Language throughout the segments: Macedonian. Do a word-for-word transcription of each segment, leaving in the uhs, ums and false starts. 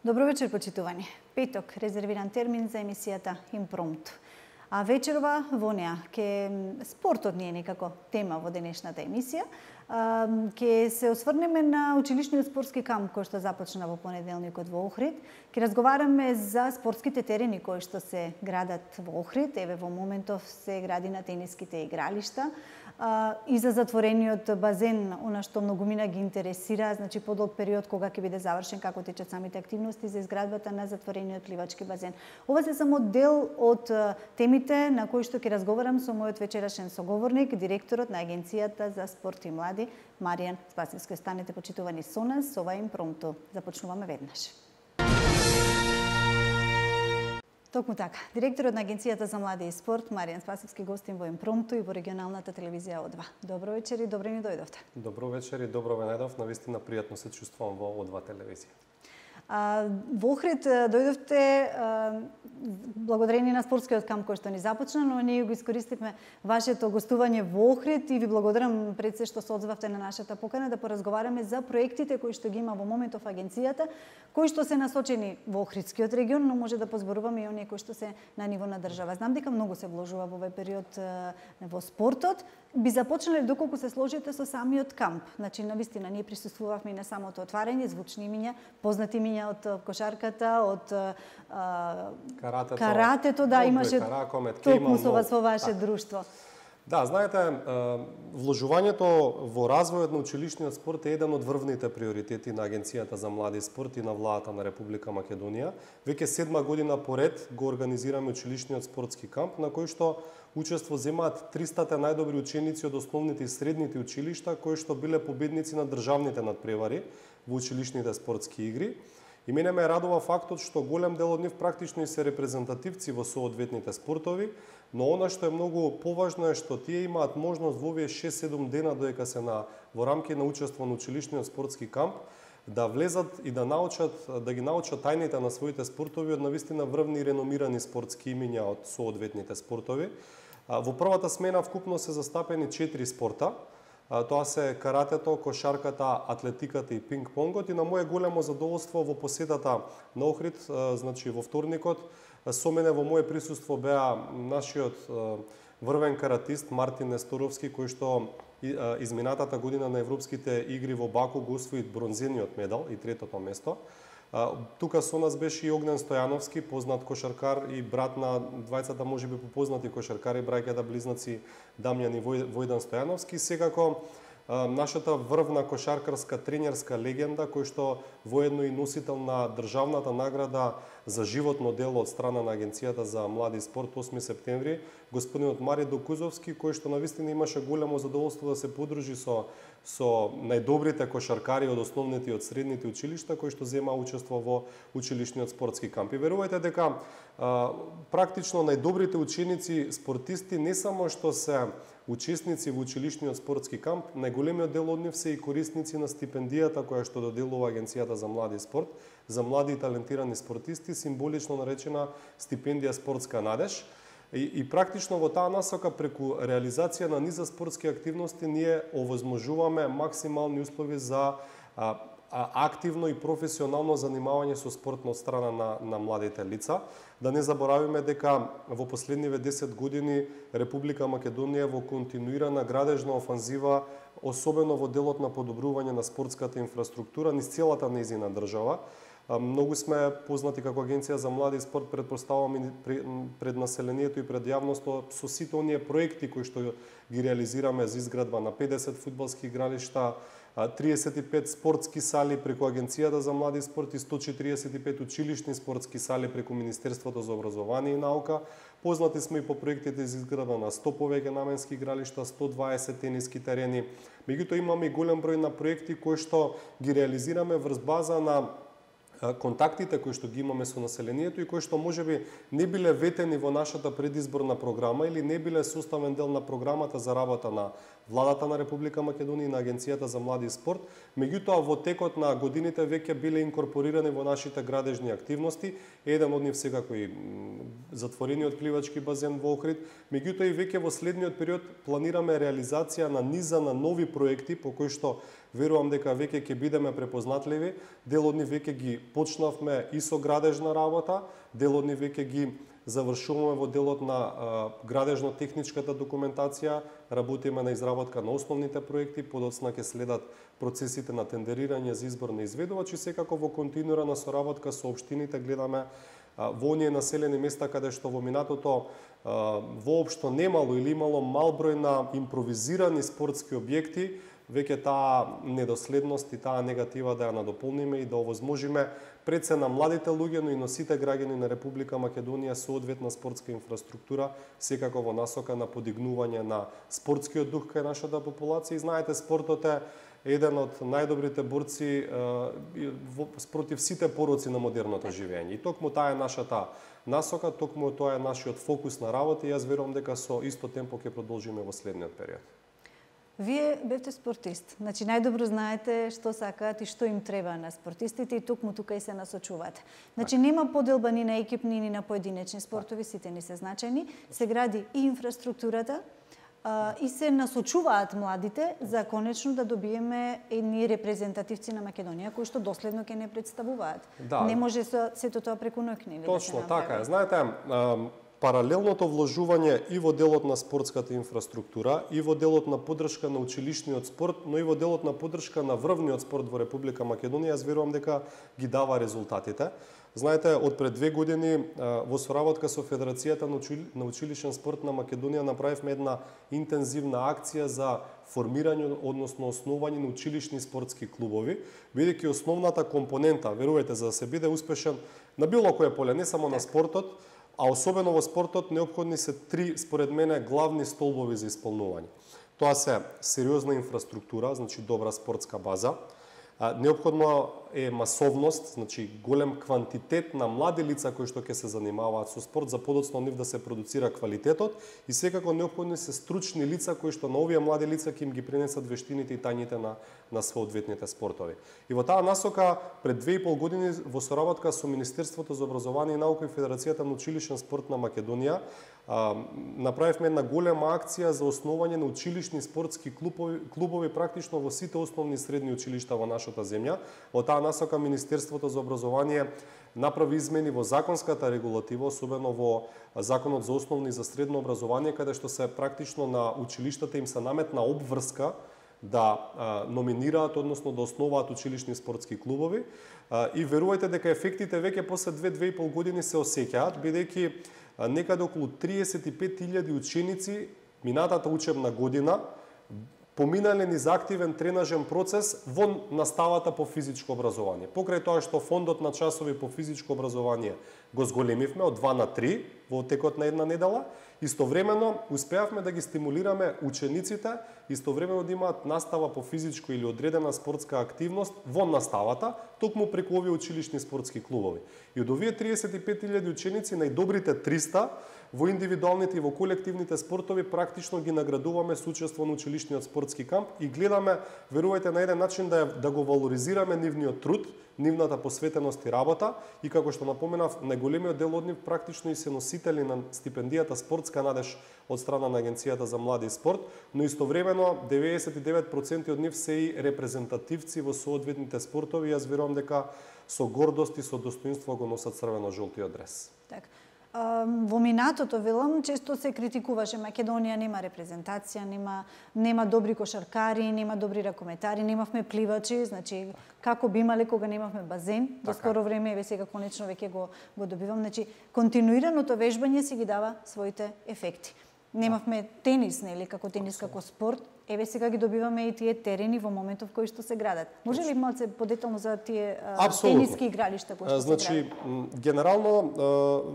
Добро вечер, почитувани. Петок, резервиран термин за емисијата Импромту. А вечерова во неа ке спортот не е некако тема во денешната емисија. Ке се осврнеме на училишниот спортски камп кој што започна во понеделникот во Охрид. Ке разговараме за спортските терени кои што се градат во Охрид. Еве во моментов се гради на тениските игралишта. И за затворениот базен, она што многумина ги интересира, значи подолг период кога ќе биде завршен, како течат самите активности за изградбата на затворениот пливачки базен. Ова се само дел од темите на кои што ќе разговарам со мојот вечерашен соговорник, директорот на Агенцијата за спорт и млади, Маријан Спасевски. Останете почитувани со нас, ова е Импромту. Започнуваме веднаш. Токму така. Директорот на Агенцијата за млади и спорт, Маријан Спасевски, гостин во Импромту и во регионалната телевизија О два. Добро вечер и добре ни дојдовте. Добро вечер и добро ве најдов. Навистина пријатно се чувствувам во О два телевизија. А, во Охрид дојдовте а, благодарение на спортскиот камп кој што ни започна, но ние го искористивме вашето гостување во Охрид и ви благодарам пред се што се одзвавте на нашата покана да поразговараме за проектите кои што ги има во моментов агенцијата, кои што се насочени во Охридскиот регион, но може да позборуваме и оние кои што се на ниво на држава. Знам дека многу се вложува во овој период а, во спортот. Би започнале доколку се сложите со самиот камп. Значи, навистина, ние присуствувавме и на самото отварање, звучни имиња, познати имиња од кошарката, од а, каратето, каратето, да, имаше токму со вас во ваше да. друштво. Да, знаете, вложувањето во развојот на училишниот спорт е еден од врвните приоритети на Агенцијата за млади и спорт и на владата на Република Македонија. Веќе седма година поред го организираме училишниот спортски камп на кој што учество земаат триста најдобри ученици од основните и средните училишта кои што биле победници на државните надпревари во училишните спортски игри. И мене ме радува фактот што голем дел од нив практично и се репрезентативци во соодветните спортови, но она што е многу поважно е што тие имаат можност во овие шест-седум дена додека се на во рамки на учество на училишниот спортски камп да влезат и да научат да ги научат тајните на своите спортови од навистина врвни и реномирани спортски имиња од соодветните спортови. Во првата смена вкупно се застапени четири спорта. Тоа се каратето, кошарката, атлетиката и пинг-понгот и на моје големо задоволство во поседата на Охрид, значи во вторникот, со мене во моје присуство беа нашиот врвен каратист Мартин Несторовски, кој што изминатата година на Европските игри во Баку го освои бронзениот медал и третото место. Тука со нас беше и Огнен Стојановски, познат кошаркар и брат на двајцата можеби попознати кошаркари, браќата близнаци Дамјан и Војдан Стојановски. Секако нашата врвна кошаркарска тренерска легенда, кој што воедно и носител на државната награда за животно дело од страна на Агенцијата за млади и спорт осми септември, господинот Мари Докузовски, кој што навистина имаше големо задоволство да се подружи со со најдобрите кошаркари од основните и од средните училишта кои што зема учество во училишниот спортски камп. И верувајте дека а, практично најдобрите ученици спортисти не само што се учесници во училишниот спортски камп, најголемиот дел од нив се и корисници на стипендијата која што доделува Агенцијата за млади и спорт за млади и талентирани спортисти, символично наречена стипендија Спортска надеж. И, и практично во таа насока преку реализација на низа спортски активности ние овозможуваме максимални услови за а, а, активно и професионално занимавање со спорт од страна на, на младите лица. Да не заборавиме дека во последниве десет години Република Македонија во континуирана градежна офанзива, особено во делот на подобрување на спортската инфраструктура низ целата нејзина држава. Многу сме познати како Агенција за млади и спорт, предпоставувам пред населението и пред јавноста со сите оние проекти кои што ги реализираме за изградба на педесет фудбалски игралишта, триесет и пет спортски сали преку Агенцијата за млади и спорт и сто четиридесет и пет училишни спортски сали преку Министерството за образование и наука. Познати сме и по проектите за изградба на сто повеќе наменски игралишта, сто дваесет тениски терени. Меѓутоа имаме и голем број на проекти кои што ги реализираме врз база на контактите кои што ги имаме со населението и кои што можеби не биле ветени во нашата предизборна програма или не биле составен дел на програмата за работа на владата на Република Македонија и на Агенцијата за млади и спорт. Меѓутоа во текот на годините веќе биле инкорпорирани во нашите градежни активности, еден од нив секако и затворениот пливачки базен во Охрид. Меѓутоа и веќе во следниот период планираме реализација на низа на нови проекти по кои што верувам дека веќе ќе бидеме препознатливи. Дел од нив веќе ги почнавме и со градежна работа, дел од нив веќе ги завршуваме во делот на градежно-техничката документација, работиме на изработка на основните проекти, подоцна ќе следат процесите на тендерирање за избор на изведувач и секако во континуирана соработка со општините гледаме во оние населени места каде што во минатото воопшто немало или имало мал број на импровизирани спортски објекти, веќе таа недоследност и таа негатива да ја надополниме и да овозможиме пред се на младите луѓе, но и на сите граѓани на Република Македонија соодветна спортска инфраструктура, секако во насока на подигнување на спортскиот дух кај нашата популација. И знаете, спортот е еден од најдобрите борци спротив сите пороци на модерното живење. И токму таа е нашата насока, токму тоа е нашиот фокус на работа и јас верувам дека со исто темпо ќе продолжиме во следниот период. Вие бевте спортист, значи најдобро знаете што сакаат и што им треба на спортистите и токму тука и се насочувате. Значи нема поделба ни на екипни ни на поединечни спортови, сите ни се значајни, се гради и инфраструктурата а, и се насочуваат младите за конечно да добиеме едни репрезентативци на Македонија кои што доследно ќе не представуваат. Да. Не може со сето тоа преку ноќ нели да се Точно направи. така е. Знаете, а, паралелното вложување и во делот на спортската инфраструктура, и во делот на поддршка на училишниот спорт, но и во делот на поддршка на врвниот спорт во Република Македонија, јас верувам дека ги дава резултатите. Знаете, од пред две години во соработка со Федерацијата на училишен спорт на Македонија направивме една интензивна акција за формирање, односно основање на училишни спортски клубови, бидејќи основната компонента, верувате, за да се биде успешен на било кое поле, не само на спортот, а особено во спортот, неопходни се три, според мене, главни столбови за исполнување. Тоа се сериозна инфраструктура, значи добра спортска база, неопходно е масовност, значи голем квантитет на млади лица кои што ќе се занимаваат со спорт, за подоцна нив да се продуцира квалитетот и секако неопходни се стручни лица кои што на овие млади лица ќе им ги пренесат вештините и тајните на на соодветните спортови. И во таа насока пред две и пол години во соработка со Министерството за образование и наука и Федерацијата на училишен спорт на Македонија а, направивме една голема акција за основање на училишни спортски клубови, клубови практично во сите основни и средни училишта во нашата земја. Во таа насока Министерството за образование направи измени во законската регулатива, особено во Законот за основно и за средно образование, каде што се практично на училиштата им се наметна обврска да а, номинираат, односно да основаат училишни спортски клубови. А, и верувајте дека ефектите веќе после две-две и пол години се осеќаат, бидејќи некаде околу триесет и пет илјади ученици минатата учебна година поминале низ активен тренажен процес во наставата по физичко образование. Покрај тоа што фондот на часови по физичко образование го зголемивме од два на три во текот на една недела, истовремено успеавме да ги стимулираме учениците, истовремено да имаат настава по физичко или одредена спортска активност во наставата, токму преку овие училишни спортски клубови. И од овие триесет и пет илјади ученици, најдобрите триста во индивидуалните и во колективните спортови практично ги наградуваме со учество на училишниот спортски камп и гледаме, верувајте, на еден начин да, да го валоризираме нивниот труд, нивната посветеност и работа и како што напоменав, најголемиот дел од нив практично и се носители на стипендијата Спортска надеж од страна на Агенцијата за млади и спорт, но истовремено деветдесет и девет проценти од нив се и репрезентативци во соодветните спортови. Јас верувам дека со гордост и со достоинство го носат црвено-жолтиот дрес. Так. Во минатото, велам, често се критикуваше Македонија нема репрезентација, нема нема добри кошаркари, нема добри ракометари, немавме пливачи, значи како би имале кога немавме базен. До скоро време еве сега конечно веќе го го добивам, значи континуираното вежбање си ги дава своите ефекти. Немавме тенис, нели, како тенис како спорт. Еве сега ги добиваме и тие терени во моментов кои што се градат. Може ли малце подетално за тие а, тениски игралишта кои што значи, се градат? Значи, генерално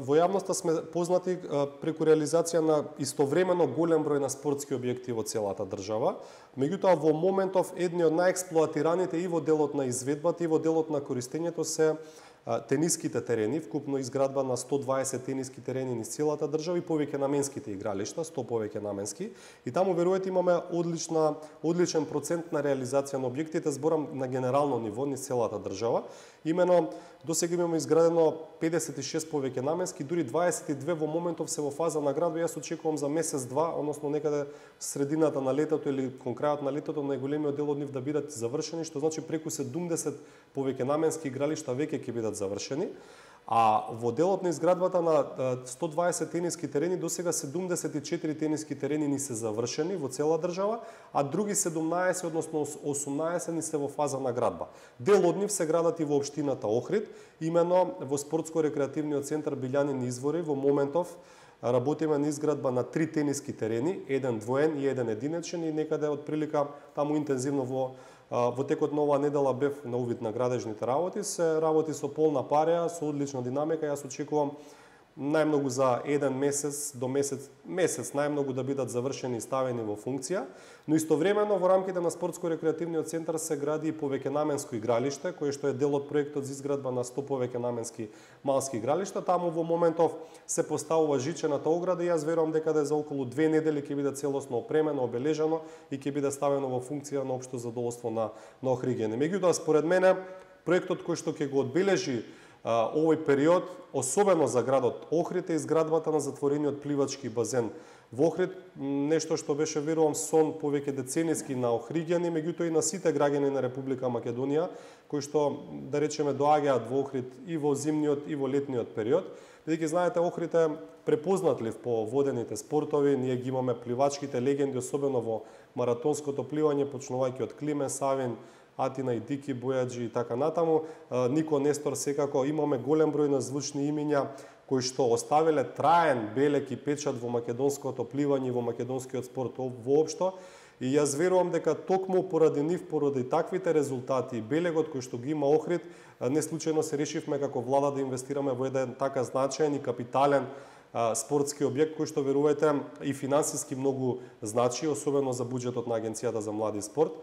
во јавноста сме познати преку реализација на истовремено голем број на спортски објекти во целата држава. Меѓутоа, во моментов едни од најексплоатираните и во делот на изведбата и во делот на користењето се тениските терени, вкупно изградба на сто дваесет тениски терени низ целата држава и повеќе наменските игралишта, сто повеќе наменски. И таму верувате имаме одлична одличен процент на реализација на објектите, зборам на генерално ниво низ целата држава. Имено досега имаме изградено педесет и шест повеќе наменски, дури дваесет и две во моментов се во фаза на градба. Јас очекувам за месец два, односно некаде средината на летото или кон крајот на летото најголемиот дел од нив да бидат завршени, што значи преку седумдесет повеќе наменски игралишта веќе ќе бидат завршени. А во делот на изградбата на сто дваесет тениски терени досега седумдесет и четири тениски терени ни се завршени во цела држава, а други седумнаесет, односно осумнаесет ни се во фаза на градба. Дел од нив се градат и во општината Охрид, имено во спортско-рекреативниот центар Билјанин извори во моментов работиме на изградба на три тениски терени, еден двоен и еден единечен, и некаде од прилика таму интензивно во Во текот на оваа недела бев на увид на градежните работи, се работи со полна пареа, со одлична динамика. Јас очекувам најмногу за еден месец до месец, месец најмногу да бидат завршени и ставени во функција, но истовремено во рамките на спортско-рекреативниот центар се гради и повеќенаменско игралиште, кое што е дел од проектот за изградба на сто повеќенаменски малски игралишта. Таму во моментов се поставува жичената ограда и јас верувам дека за околу две недели ќе биде целосно опремено, обележано и ќе биде ставено во функција на општо задоволство на на охриѓани. Меѓутоа, според мене, проектот кој што ќе го одбележи овој период, особено за градот Охрид, е изградбата на затворениот пливачки базен во Охрид, нешто што беше, верувам, сон повеќе деценијски на охриѓани, меѓутоа и на сите граѓани на Република Македонија, кои што, да речеме, доаѓаат во Охрид и во зимниот и во летниот период. Бидејќи знаете, Охрид е препознатлив по водените спортови, ние ги имаме пливачките легенди, особено во маратонското пливање, почнувајќи од Климе, Савин, Атина и Дики, Бојаджи и така натаму. Нико Нестор, секако имаме голем број на звучни имиња кои што оставиле траен белек и печат во македонското пливање и во македонскиот спорт воопшто. И јас верувам дека токму поради нив, поради таквите резултати и белегот кој што ги има Охрид, не случајно се решивме како влада да инвестираме во еден така значаен и капитален спортски објект кој што, верувајте, и финансиски многу значи, особено за буџетот на Агенцијата за млади спорт.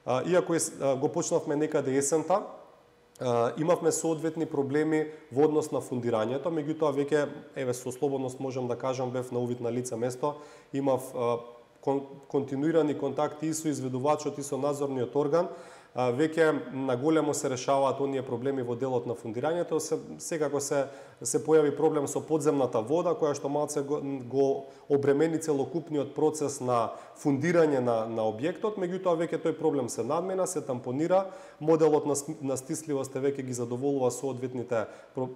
Иако го почнавме некаде есента, имавме соодветни проблеми во однос на фундирањето, меѓутоа веќе, еве, со слободност можам да кажам, бев на увид на лице место, имав континуирани контакти и со изведувачот и со надзорниот орган. Веќе наголемо се решаваат оние проблеми во делот на фундирањето. Секако се се појави проблем со подземната вода, која што малце го, го обремени целокупниот процес на фундирање на, на објектот, меѓутоа веќе тој проблем се надмина, се тампонира, моделот на, на стисливост веќе ги задоволува соодветните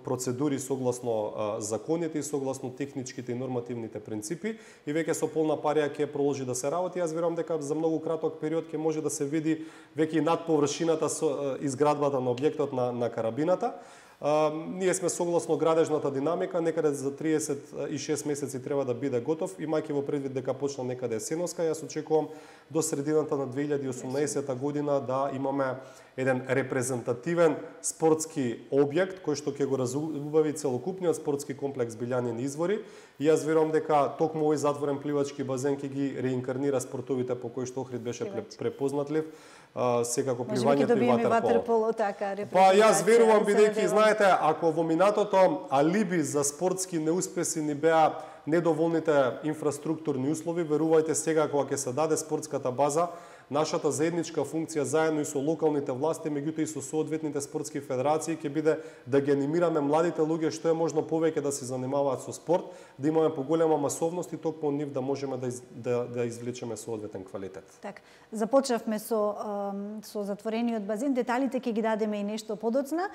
процедури согласно а, законите и согласно техничките и нормативните принципи, и веќе со полна парија ќе продолжи да се работи. Јас верувам дека за многу краток период ќе може да се види веќе и над површината со изградбата на објектот на, на карабината. А, ние сме согласно градежната динамика, некаде за триесет и шест месеци треба да биде готов, имајќи во предвид дека почна некаде есеноска. Јас очекувам до средината на две илјади и осумнаесета година да имаме еден репрезентативен спортски објект кој што ќе го разубави целокупниот спортски комплекс Билјанин извори. И јас верувам дека токму овој затворен пливачки базен ќе ги реинкарнира спортовите по кои што Охрид беше препознатлив. Uh, секако пливањето и ватерполо. Така, па јас верувам, бидејќи знаете, ако во минатото алиби за спортски неуспеси ни беа недоволните инфраструктурни услови, верувајте сега кога ќе се даде спортската база, нашата заедничка функција заедно и со локалните власти, меѓутоа и со соодветните спортски федерации ќе биде да ги анимираме младите луѓе што е можно повеќе да се занимаваат со спорт, да имаме поголема масовност и токму нив да можеме да из, да, да извлечеме соодветен квалитет. Така, започнавме со со затворениот базен, деталите ќе ги дадеме и нешто подоцна.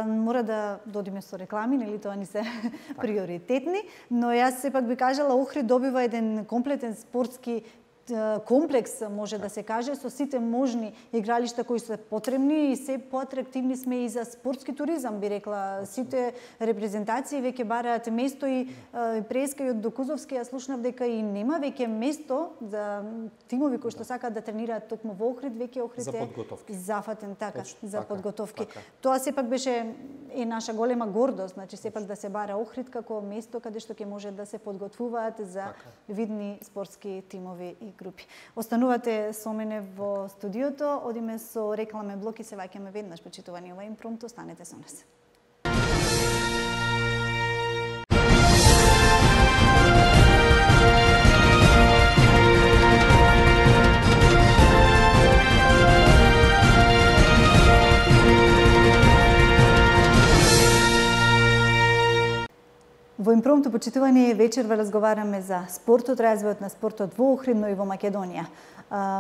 Мора да додиме со реклами, нели тоа ни се приоритетни, но јас сепак би кажала Охрид добива еден комплетен спортски комплекс, може да се каже, со сите можни игралишта кои се потребни и се поатрактивни сме и за спортски туризам, би рекла. Сите репрезентации веќе бараат место и преска и од Докузовски ја слушнав дека и нема веќе место за тимови кои што сакаат да тренираат токму во Охрид, веќе Охрид е зафатен така Точно, за така, подготовки. Така. Тоа сепак беше е наша голема гордост, значи сепак да се бара Охрид како место каде што ќе може да се подготвуваат за така. видни спортски тимови и групи. Останувате со мене во студиото, одиме со рекламен блок и се ваќаме веднаш, почитувани ова импромто, останете со нас. Во импромту почитувани вечерва разговараме за спортот, развојот на спортот во Охрид, но и во Македонија.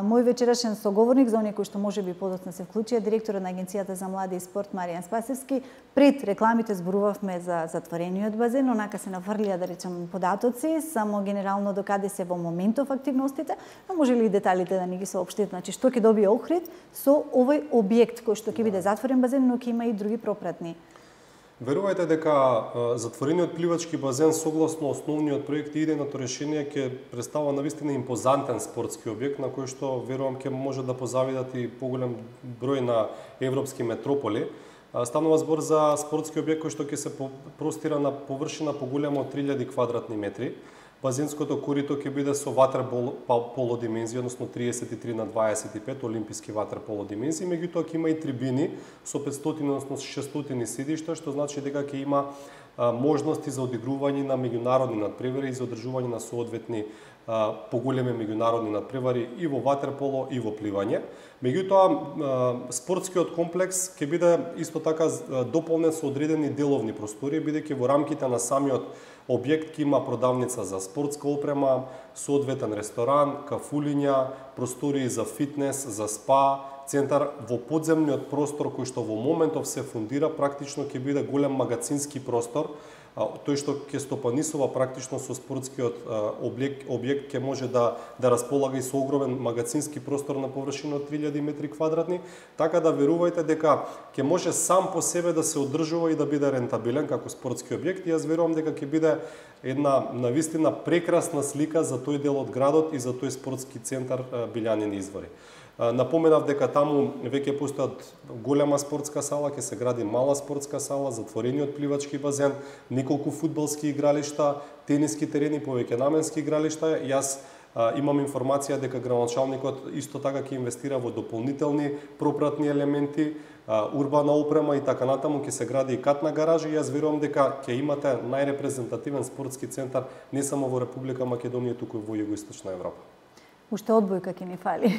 Мој вечерашен соговорник, за оние кои што може би подоцна се вклучија, директорот на Агенцијата за млади и спорт Маријан Спасевски. Пред рекламите зборувавме за затворениот базен, онака се наврлија, да речем, податоци, само генерално докаде се во моментов активностите, но може ли и деталите да ни ги соопштите, значи што ќе добие Охрид со овој објект кој што ќе биде затворен базен, но ќе има и други пропратни? Верувајте дека затворениот пливачки базен согласно основниот проект и идејното решение ќе представува навистина импозантен спортски објект на кој што верувам ќе може да позавидат и поголем број на европски метрополи. Станува збор за спортски објект кој што ќе се простира на површина поголема од три илјади квадратни метри. Базенското корито ќе биде со ватерполо димензија, односно триесет и три на дваесет и пет олимписки ватерполо димензии, меѓутоа ќе има и трибини со петстотини, односно шестстотини седишта, што значи дека ќе има а, можности за одигрување на меѓународни надпревари и за одржување на соодветни а, поголеми меѓународни надпревари и во ватерполо и во пливање. Меѓутоа, спортскиот комплекс ќе биде исто така дополнет со одредени деловни простори, бидејќи во рамките на самиот објект ќе има продавница за спортска опрема, соодветен ресторан, кафулиња, простори за фитнес, за спа, центар. Во подземниот простор кој што во моментов се фундира, практично ќе биде голем магацински простор, тој што ќе стопанисува практично со спортскиот објект, објект ќе може да да располага и со огромен магацински простор на површина од три илјади метри квадратни, така да верувајте дека ќе може сам по себе да се одржува и да биде рентабилен како спортски објект. И јас верувам дека ќе биде една навистина прекрасна слика за тој дел од градот и за тој спортски центар Билјанини извори. Напоменав дека таму веќе постојат голема спортска сала, ќе се гради мала спортска сала, затворениот пливачки базен, неколку фудбалски игралишта, тениски терени, повеќе наменски игралишта. Јас а, имам информација дека градоначалникот исто така ќе инвестира во дополнителни пропратни елементи, а, урбана опрема и така натаму, ќе се гради и катна гаража. Јас верувам дека ќе имате најрепрезентативен спортски центар не само во Република Македонија, туку и во Југоисточна Европа. Уште одбојка ќе ни фали.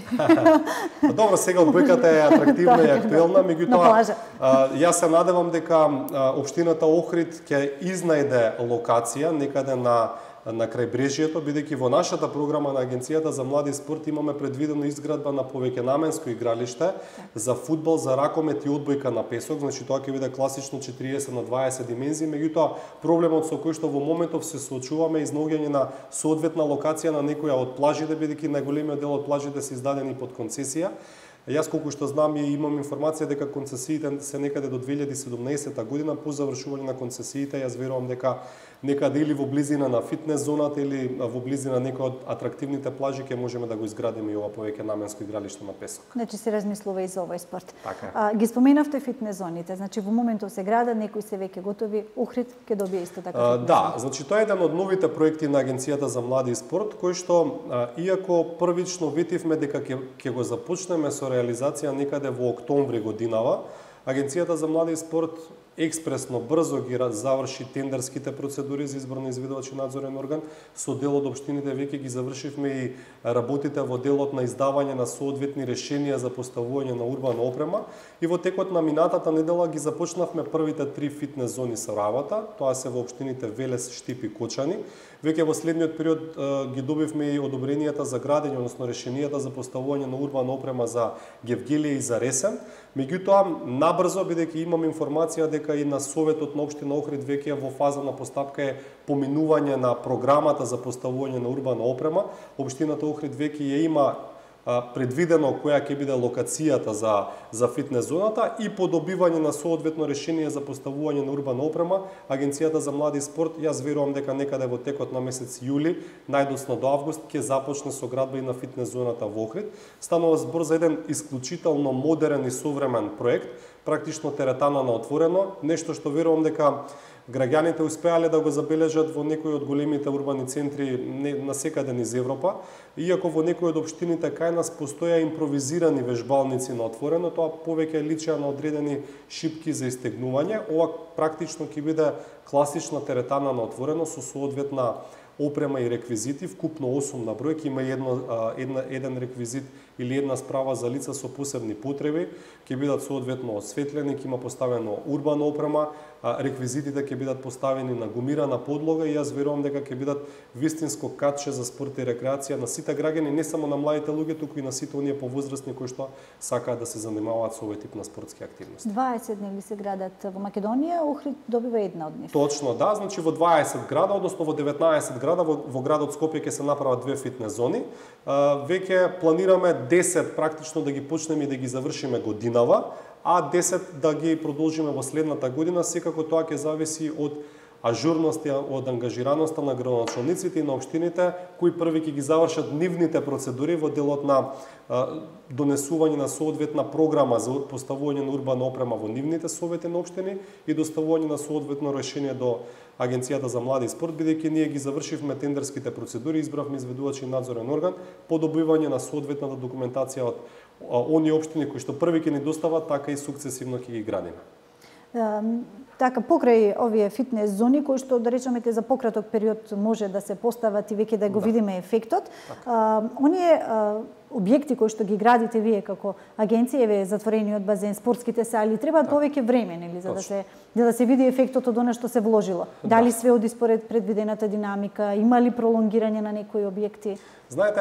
Добро, сега одбојката е атрактивна и актуелна, меѓутоа јас се надевам дека општината Охрид ќе изнајде локација некаде на на крајбрежјето, бидејќи во нашата програма на Агенцијата за млади и спорт имаме предвидено изградба на повеќенаменско игралиште за фудбал, за ракомет и одбојка на песок, значи тоа ќе биде класично четириесет на дваесет димензии, меѓутоа проблемот со кој што во моментов се соочуваме е изнаоѓање на соодветна локација на некоја од плажите, бидејќи најголемиот дел од плажите се издадени под концесија. Јас колку што знам и имам информација дека концесиите се некаде до две илјади и седумнаесета година. По завршување на концесиите јас верувам дека некаде или во близина на фитнес зоната или во близина некој од атрактивните плажи ќе можеме да го изградиме и ова повеќенаменско игралиште на песок. Значи се размислува и за овој спорт. Така. А, ги споменавте фитнес зоните, значи во моментов се градат, некои се веќе готови, Охрид ќе добие исто така фитнес. Да, значи тоа е еден од новите проекти на Агенцијата за млади и спорт, кој што а, иако првично ветивме дека ќе ќе го започнеме со реализација некаде во октомври годинава, Агенцијата за млади и спорт експресно, брзо ги заврши тендерските процедури за избор на изведувач и надзорен орган. Со дел од општините веќе ги завршивме и работите во делот на издавање на соодветни решенија за поставување на урбана опрема. И во текот на минатата недела ги започнавме првите три фитнес зони со работа. Тоа се во општините Велес, Штип и Кочани. Веќе во следниот период е, ги добивме и одобренијата за градење, односно решенијата за поставување на урбана опрема за Гевгелија и за Ресен. Меѓутоа, набрзо, бидејќи имам информација дека и на Советот на општина Охрид веќе во фаза на постапка е поминување на програмата за поставување на урбана опрема. Општината Охрид веќе ја има предвидено која ќе биде локацијата за за фитнес зоната и по добивање на соодветно решение за поставување на урбана опрема, Агенцијата за млади и спорт, јас верувам дека некаде во текот на месец јули, најдосно до август, ќе започне со градба и на фитнес зоната во Охрид. Станува збор за еден исклучително модерен и современ проект, практично теретана на отворено, нешто што верувам дека граѓаните успеале да го забележат во некои од големите урбани центри на секаде низ Европа, иако во некои од општините кај нас постоја импровизирани вежбалници на отворено, тоа повеќе личи на одредени шипки за истегнување. Ова практично ќе биде класична теретана на отворено со соодветна опрема и реквизити, вкупно осум на број, ќе има едно, една, еден реквизит или една справа за лица со посебни потреби, ќе бидат соодветно осветлени, ќе има поставено урбана опрема, реквизитите ќе бидат поставени на гумирана подлога и јас верувам дека ќе бидат вистинско катче за спорт и рекреација на сите граѓани, не само на младите луѓе, туку и на сите оние повозрастни кои што сакаат да се занимаваат со овој тип на спортски активности. дваесет нели се градат во Македонија, Охрид добива една од нив. Точно, да, значи во дваесет града, односно во деветнаесет града во, во градот Скопје ќе се направат две фитнес зони. Веќе планираме десет практично да ги почнеме и да ги завршиме годинава, а десет да ги продолжиме во следната година. Секако тоа ќе зависи од ажурноста, од ангажираноста на градоначалниците и на општините, кои први ќе ги завршат нивните процедури во делот на а, донесување на соодветна програма за поставување на урбана опрема во нивните совети на општини и доставување на соодветно решение до Агенцијата за млади и спорт, бидејќи ние ги завршивме тендерските процедури, избравме изведувач и надзорен орган по добивање на соодветната документација од оние општини кои што први ќе ни достават, така и сукцесивно ќе ги градиме. Така, покрај овие фитнес зони, кои што, да речеме, за пократок период може да се постават и веќе да го да. видиме ефектот, а, оние а, објекти кои што ги градите вие како агенција, еве затворениот базен, спортските сали, требаат повеќе време, нели, за да се да, да се види ефектот од она што се вложило. Дали све оди според предвидената динамика, има ли пролонгирање на некои објекти? Знаете,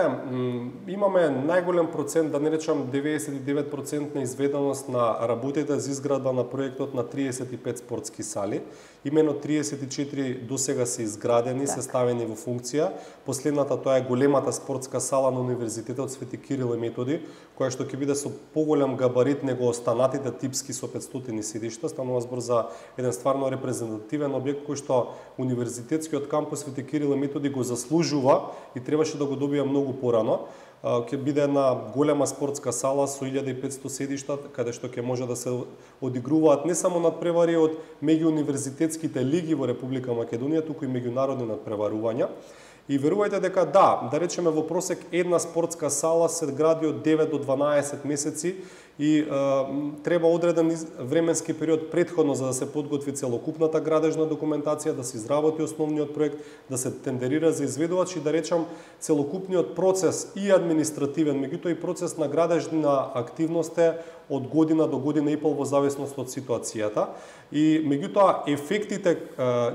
имаме најголем процент, да не речам деветдесет и девет проценти на изведеност на работите за изградба на проектот на триесет и пет спортски сали. Имено триесет и четири досега се изградени, се ставени во функција. Последната тоа е големата спортска сала на Универзитетот Свети Кирил и Методи, која што ќе биде со поголем габарит него останатите типски со петстотини седишта. Станува збор за еден стварно репрезентативен објект кој што Универзитетскиот кампус Свети Кирил и Методи го заслужува и требаше да го добие многу порано. Ќе биде една голема спортска сала со илјада и петсто седишта, каде што ќе може да се одигруваат не само надпревари од меѓууниверзитетските лиги во Република Македонија, туку и меѓународни надпреварувања. И верувајте дека да, да речеме во просек една спортска сала се гради од девет до дванаесет месеци и е, треба одреден временски период претходно за да се подготви целокупната градежна документација, да се изработи основниот проект, да се тендерира за изведувач и да речам целокупниот процес и административен, меѓутоа и процес на градежна активност е од година до година и пол во зависност од ситуацијата. И меѓутоа ефектите е,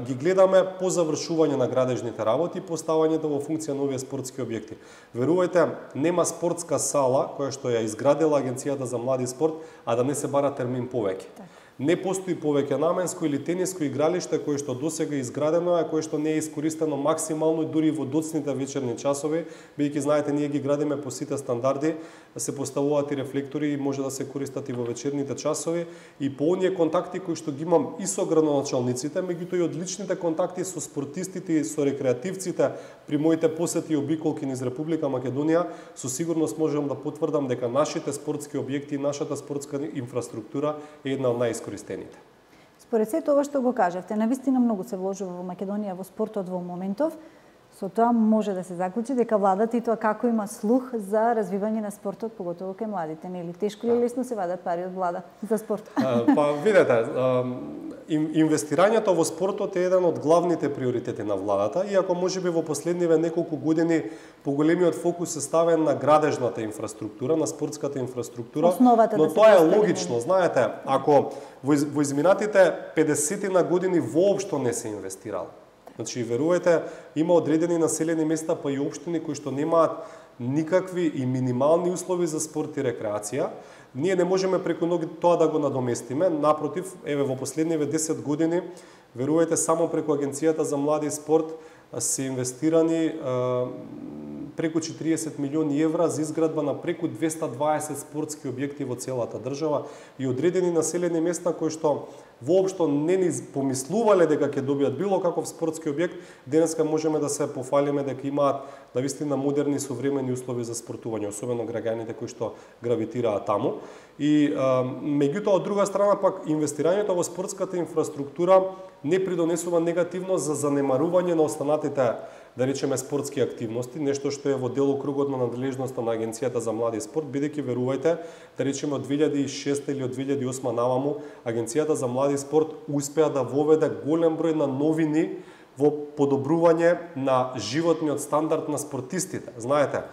ги гледаме по завршување на градежните работи и поставањето во функција на овие спортски објекти. Верувајте, нема спортска сала која што ја изградила Агенцијата за млади и спорт, а да не се бара термин повеќе. Не постои повеќе наменско или тениско игралиште кое што досега е изградено, а кое што не е искористено максимално и дури во доцните вечерни часови, бидејќи знаете ние ги градиме по сите стандарди, се поставуваат и рефлектори и може да се користат и во вечерните часови и по оние контакти кои што ги имам и со градоначалниците, меѓутоа и од личните контакти со спортистите и со рекреативците при моите посети и обиколки низ Република Македонија, со сигурност можам да потврдам дека нашите спортски објекти и нашата спортска инфраструктура е една од најискористените. Според сето ова што го кажавте, навистина многу се вложува во Македонија во спортот во моментов. Со тоа може да се заклучи дека владата и тоа како има слух за развивање на спортот, поготово кај младите, нели? Тешко или лесно се вадат пари од влада за спорт? Па видете, инвестирањето во спортот е еден од главните приоритети на владата, иако можеби во последниве неколку години поголемиот фокус се ставен на градежната инфраструктура, на спортската инфраструктура, основата но да тоа е логично, знаете, ако во, во изминатите педесетина години воопшто не се инвестирало. Значи, верувајте, има одредени населени места, па и општини кои што немаат никакви и минимални услови за спорт и рекреација. Ние не можеме преку ноги тоа да го надоместиме, напротив, еве во последниве десет години, верувајте, само преку Агенцијата за млади и спорт се инвестирани е, преку четириесет милиони евра за изградба на преку двесте и дваесет спортски објекти во целата држава и одредени населени места кои што воопшто не ни помислувале дека ќе добијат било каков спортски објект, денеска можеме да се пофалиме дека имаат навистина модерни современи услови за спортување, особено граѓаните кои што гравитираат таму. И а, меѓутоа од друга страна пак инвестирањето во спортската инфраструктура не придонесува негативно за занемарување на останатите, да речеме, спортски активности, нешто што е во делокругот на надлежноста на Агенцијата за млади и спорт, бидејќи верувајте, да речеме од две илјади и шеста или од две илјади и осма наваму, Агенцијата за млади и спорт успеа да воведе голем број на новини во подобрување на животниот стандард на спортистите. Знаете,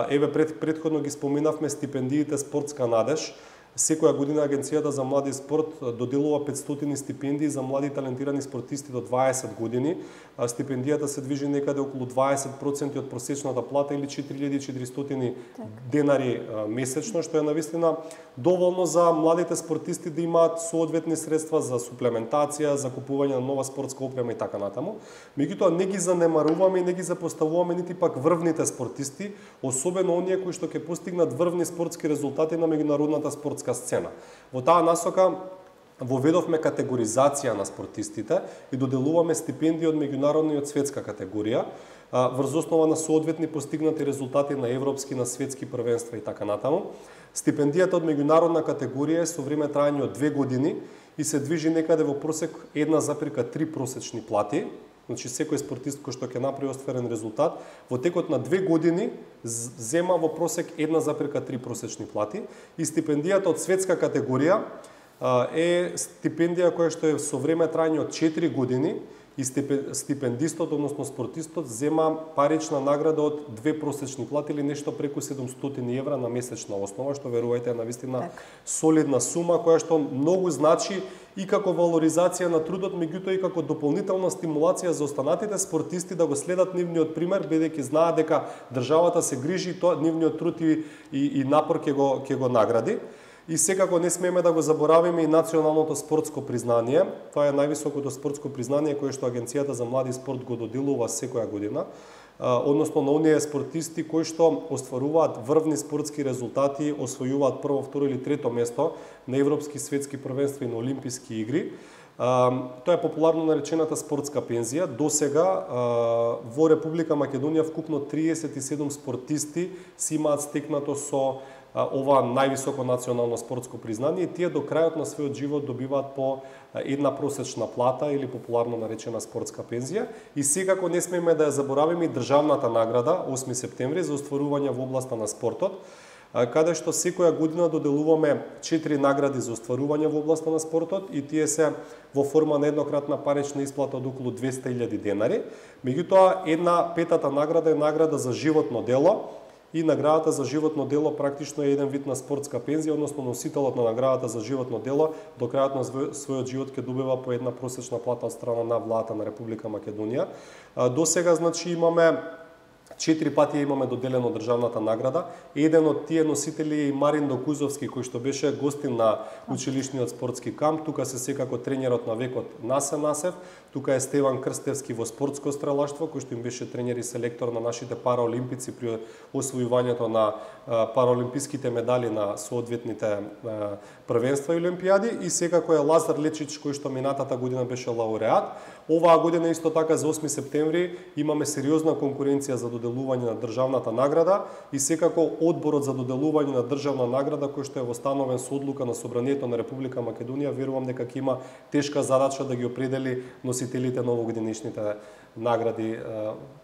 Еве пред претходно ги споминавме стипендиите Спортска надеж. Секоја година Агенцијата за млади спорт доделува петстотини стипендии за млади талентирани спортисти до дваесет години. Стипендијата се движи некаде околу дваесет проценти од просечната плата или четири илјади и четиристотини денари месечно, што е навистина доволно за младите спортисти да имаат соодветни средства за суплементација, за купување на нова спортска опрема и така натаму. Меѓутоа не ги занемаруваме и не ги запоставуваме нити пак врвните спортисти, особено оние кои што ќе постигнат врвни спортски резултати на меѓународната спортска сцена. Во таа насока воведовме категоризација на спортистите и доделуваме стипендии од меѓународна и од светска категорија, врз основа на соодветни постигнати резултати на европски, на светски првенства и така натаму. Стипендијата од меѓународна категорија е со време трајање од две години и се движи некаде во просек една запирка три просечни плати. Значи секој спортист кој што ќе направи остварен резултат во текот на две години зема во просек една запирка три просечни плати и стипендијата од светска категорија е стипендија која што е со време трајање од четири години и стипендистот, односно спортистот, зема парична награда од две просечни плати или нешто преку седумстотини евра на месечна основа, што верувајте е навистина солидна сума која што многу значи и како валоризација на трудот, меѓутоа и како дополнителна стимулација за останатите спортисти да го следат нивниот пример, бидејќи знаат дека државата се грижи и тоа нивниот труд и, и, и напор ќе го ќе го награди. И секако не смееме да го заборавиме и националното спортско признание. Тоа е највисокото спортско признание кое што Агенцијата за млади спорт го доделува секоја година, односно на оние спортисти кои што остваруваат врвни спортски резултати, освојуваат прво, второ или трето место на европски, светски првенства и на олимписки игри. Тоа е популарно наречената спортска пензија. До сега во Република Македонија вкупно триесет и седум спортисти си имаат стекнато со ова највисоко национално спортско признание и тие до крајот на својот живот добиваат по една просечна плата или популарно наречена спортска пензија. И секако не смееме да ја заборавиме и државната награда осми септември за остварување во областа на спортот, каде што секоја година доделуваме четири награди за остварување во областа на спортот и тие се во форма на еднократна парична исплата од околу двесте илјади денари. Меѓутоа, една петата награда е награда за животно дело, и наградата за животно дело практично е еден вид на спортска пензија, односно носителот на наградата за животно дело до крајот на својот живот ќе добива по една просечна плата од страна на владата на Република Македонија. До сега, значи, имаме четири пати имаме доделено државната награда. Еден од тие носители е и Марин Докузовски, кој што беше гостин на училишниот спортски камп. Тука се секако тренерот на векот Насе Насев. Тука е Стеван Крстевски во спортско стрелаштво, кој што им беше тренер и селектор на нашите параолимпици при освојувањето на параолимписките медали на соодветните првенства и олимпијади. И секако е Лазар Лечич, кој што минатата година беше лауреат. Оваа година исто така за осми септември имаме сериозна конкуренција за доделување на државната награда и секако одборот за доделување на државна награда кој што е востановен со одлука на Собранието на Република Македонија, верувам дека ќе има тешка задача да ги определи носителите на овогодинешните награди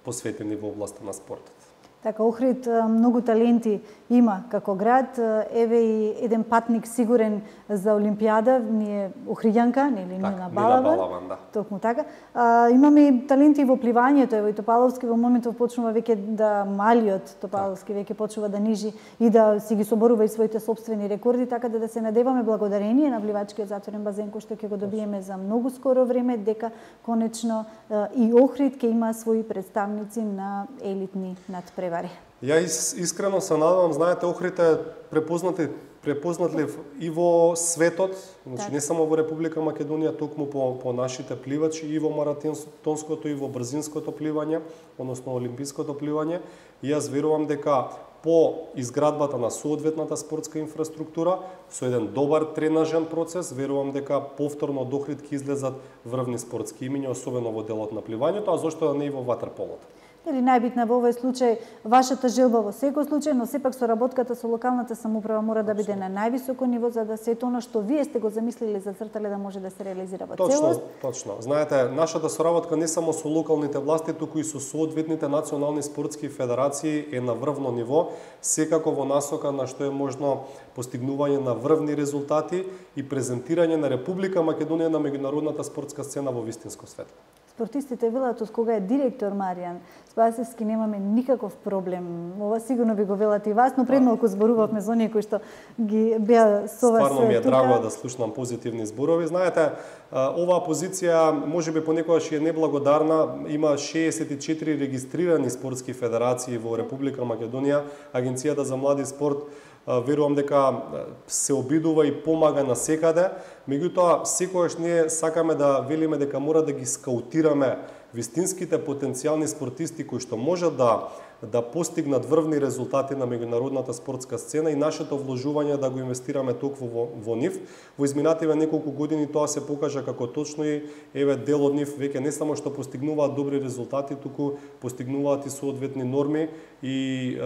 посветени во областа на спортот. Така, Охрид многу таленти има како град. Еве и еден патник сигурен за Олимпијада, ние Охриѓанка, нели Нина Балаван. Балаван, да. Токму така. А, имаме и таленти во пливањето, ево и Топаловски во моментов почнува веќе да малиот Топаловски веќе почнува да нижи и да си ги соборува и своите сопствени рекорди, така да да се надеваме благодарение на пливачкиот затворен базен кој што ќе го добиеме за многу скоро време, дека конечно и Охрид ќе има своји представници на елитни надпревари. Ја искрено се надевам, знаете, Охрид е препознати препознатлив и во светот, значи так. Не само во Република Македонија, токму по, по нашите пливачи, и во маратонското и во брзинското пливање, односно олимпиското пливање. И јас верувам дека по изградбата на соодветната спортска инфраструктура, со еден добар тренажен процес, верувам дека повторно од Охрид ќе излезат врвни спортски имиња, особено во делот на пливањето, а зошто да не и во ватерполото. Или најбитна во овој случај вашата желба во секој случај, но сепак соработката со локалната самоуправа мора да биде на највисоко ниво за да сето она што вие сте го замислили, зацртале да може да се реализира во целост. Точно, точно. Знаете, нашата соработка не само со локалните власти, туку и со соодветните национални спортски федерации е на врвно ниво, секако во насока на што е можно постигнување на врвни резултати и презентирање на Република Македонија на меѓународната спортска сцена во вистинско светло. спортистите велат од кога е директор Маријан Спасевски немаме никаков проблем. Ова сигурно ви го велат и вас, но пред малку зборувавме за оние кои што ги беа со вас. Стварно ми е драго да слушнам позитивни зборови. Знаете, оваа позиција можеби понекогаш е неблагодарна. Има шеесет и четири регистрирани спортски федерации во Република Македонија. Агенцијата за млади спорт верувам дека се обидува и помага на секаде. Меѓутоа, секогаш ние сакаме да велиме дека мора да ги скаутираме вистинските потенцијални спортисти кои што можат да да постигнат врвни резултати на меѓународната спортска сцена и нашето вложување да го инвестираме толку во, во нив. Во изминативе неколку години тоа се покажа како точно и еве дел од нив веќе не само што постигнуваат добри резултати, туку постигнуваат и соодветни норми и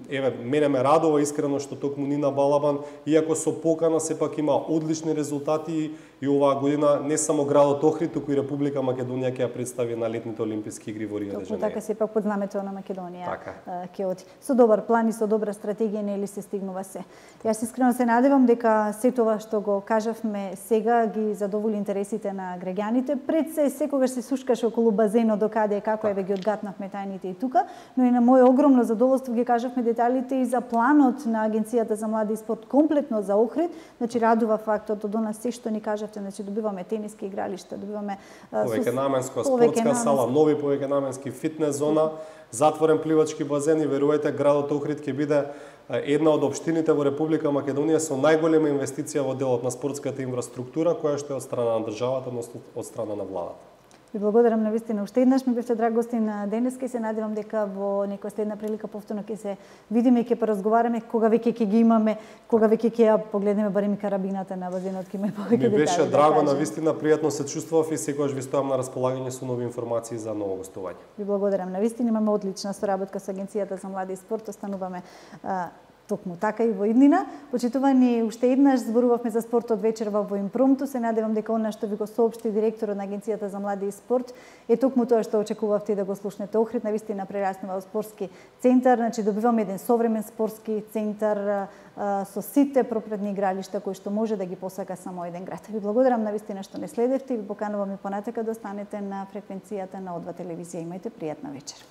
еве мене ме радува искрено што токму Нина Балабан, иако со покана сепак има одлични резултати и оваа година не само градот Охрид, туку и Република Македонија ќе ја представи на летните олимписки игри во Рио де Жанеиро. Така сепак под знамето на Македонија така ќе оди. Со добар план и со добра стратегија нели се стигнува се. Јас искрено се надевам дека се тоа што го кажавме сега ги задоволи интересите на граѓаните. Пред се секогаш се сушкаше околу базенот докаде е како еве ги одгатнавме тајните и тука, но и на моје огромно задоволство ги кажавме деталите и за планот на Агенцијата за млади спорт комплетно за Охрид. Значи радува фактот од она се што ни кажавте, значи добиваме тениски игралишта, добиваме повеќе наменска спортска сала, нови повеќе наменски фитнес зона, затворен пливачки базен и верувајте градот Охрид ќе биде една од општините во Република Македонија со најголема инвестиција во делот на спортската инфраструктура која што е од страна на државата, но од страна на владата. Ви благодарам на вистина. Уште еднаш ми бевте драг гостин денеска и се надевам дека во некоја следна прилика повторно ќе се видиме и ќе поразговараме кога веќе ќе ги имаме, кога веќе ќе ја погледнеме барем и карабината на базенот, ќе ме повеќе детали. Ми беше да драго, кажем. на вистина пријатно се чувствував и секогаш ви стојам на располагање со нови информации за ново гостување. Ви благодарам. На вистина имаме одлична соработка со Агенцијата за млади спорт, остануваме а, токму така и во иднина. Почитувани, уште еднаш зборувавме за спортот вечерва во импромту. Се надевам дека она што ви го соопшти директорот на Агенцијата за млади и спорт е токму тоа што очекувавте да го слушнете. Охрид на вистина прераснува во спортски центар, значи добиваме еден современ спортски центар а, со сите пропретни игралишта кои што може да ги посака само еден град. Ви благодарам на вистина што не следевте и ви поканувам и понатака да останете на фреквенцијата на О два телевизија. Имајте пријатна вечер.